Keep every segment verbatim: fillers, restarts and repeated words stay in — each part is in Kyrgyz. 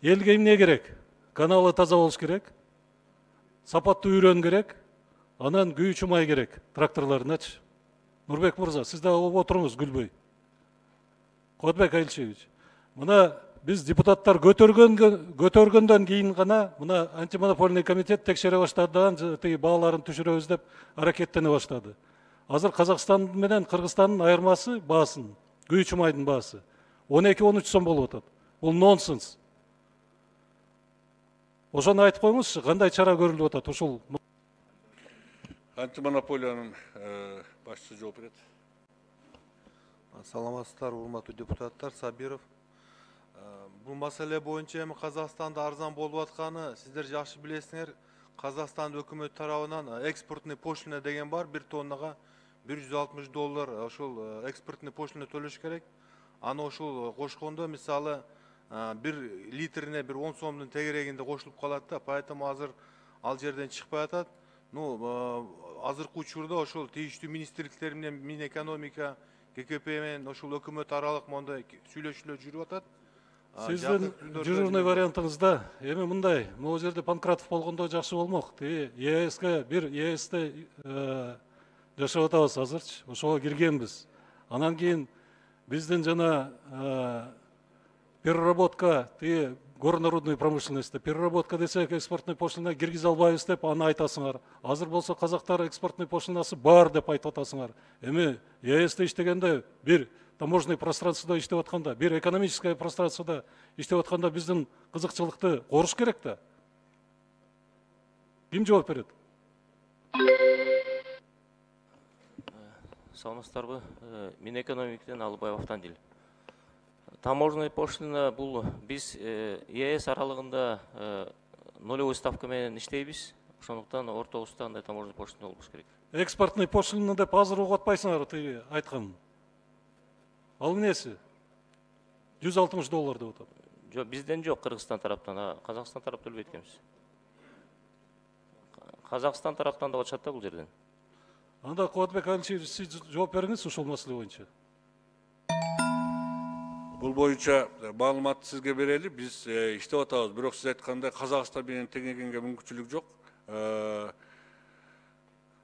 Элге эмне керек? Каналы таза болуш керек. Сапаттуу үйрөн керек. Анан күйүүчү май керек тракторларыначы. Нурбек мырза, сиз да отуруңуз күлбөй. Кодбек Айлчевич, мына биз депутаттар көтөргөндөн кийин гана мына антимонопольный комитет текшере баштадан тиги бааларын түшүрөбүз деп аракеттене баштады. Азыр Казакстан менен Кыргызстандын айырмасы баасын, күйүүчү майдын баасы он эки он үч сом болуп атат. Бул нонсенс. Ошону айтып коюңузчу, кандай чара көрүлүп атат ушул? Антимонополиянын башчысы жооп берет. Саламатсыздар, урматтуу депутаттар. Сабиров. Бул маселе боюнча эми Казакстанда арзан болуп атканы сиздер жакшы билесиңер. Казакстан өкмөт тарабынан экспортный пошлина деген бар, бир тоннага бир жүз алтымыш доллар ошол экспортный пошлина төлөш керек. Аны ошол кошкондо мисалы бир литрине бир он сомдун тегерегинде кошулуп калат да, поэтому азыр ал жерден чыкпай атат. Ну, азыркы учурда ошол тийиштүү министрликтер менен Минэкономика, ККП менен ошол өкмөт аралык мондай сүйлөшүүлөр жүрүп атат. Сиздин жүрүүнү вариантыңызда эми мындай, могу жерде Панкратов болгондо жакшы болмок. Тиги ЕСке бир ЕСте жашап атабыз азырчы, ошого киргенбиз. Анан кийин биздин жана переработка, тиги горнорудный промышленности, переработка десек экспортный пошлина киргизе албайбыз деп аны айтасыңар. Азыр болсо казактар экспортный пошлинасы бар деп айтып атасыңар. Эми ЕСте иштегенде бир таможенный пространствода иштеп атканда, бир экономическое пространствода иштеп атканда биздин кызыкчылыкты коруш керек да. Ким жооп берет? Саламатсыздарбы? Минэкономиктен Алыбаев Автандил. Таможенный пошлина бул биз ЕС аралыгында нолевой ставка менен иштейбиз. Ошондуктан ортобузда андай таможенный пошлина болуш керек. Экспортный пошлина деп азыр угуп атпайсыңар тиги айткан. Ал эмнеси? жүз алтымыш доллар деп атат. Жок, бизден жок, Кыргызстан тараптан, а Казакстан тарап төлөбөйт экенбиз. Казакстан тараптан да атышат да бул жерден. Анда Кодбек Айлчевич, сиз жооп бериңиз ушул маселе боюнча. Бул боюнча маалыматты сизге берели. Биз иштеп атабыз, бирок сиз айткандай Казакстан менен теңегенге мүмкүнчүлүк жок.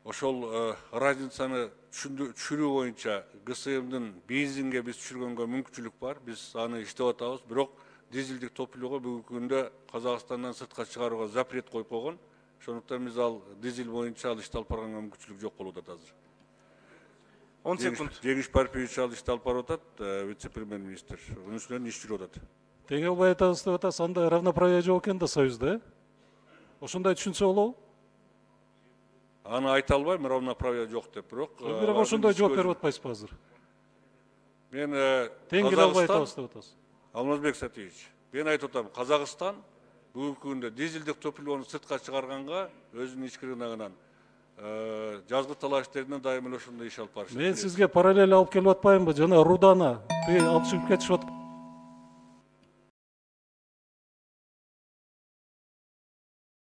Ошол разницаны түшүрүү боюнча ГСМдин бензинге биз түшүргөнгө мүмкүнчүлүк бар. Биз аны иштеп атабыз, бирок дизелдик топливого бүгүнкү күндө Казакстандан сыртка чыгарууга запрет коюп койгон. Ошондуктан биз ал дизель боюнча ал ишти алып барганга мүмкүнчүлүк жок болуп атат азыр. он секунд. Жеңиш Парпиевич ал ишти алып барып атат, вице-премьер-министр. Унун үстүнөн иш жүрүп атат. Тең албай атабыз деп атасыз, анда равноправие жок экен да Союзда, э? Ошондой түшүнсө болобу? Аны айта албайм, равноправие жок деп, бирок бирок ошондой жооп берип атпайсызбы азыр? Мен тең келе албай атабыз деп атасыз. Алмазбек Сатиевич, мен айтып атам, Казакстан бүгүнкү күндө дизелдик топливону сыртка чыгарганга өзүнүн ички рыногунан жазгы талаштеринен дайыма ошондой иш алып барышат. Мен сизге параллель алып келип атпаймынбы? Жана Рудана алып чыгып кетишип атат.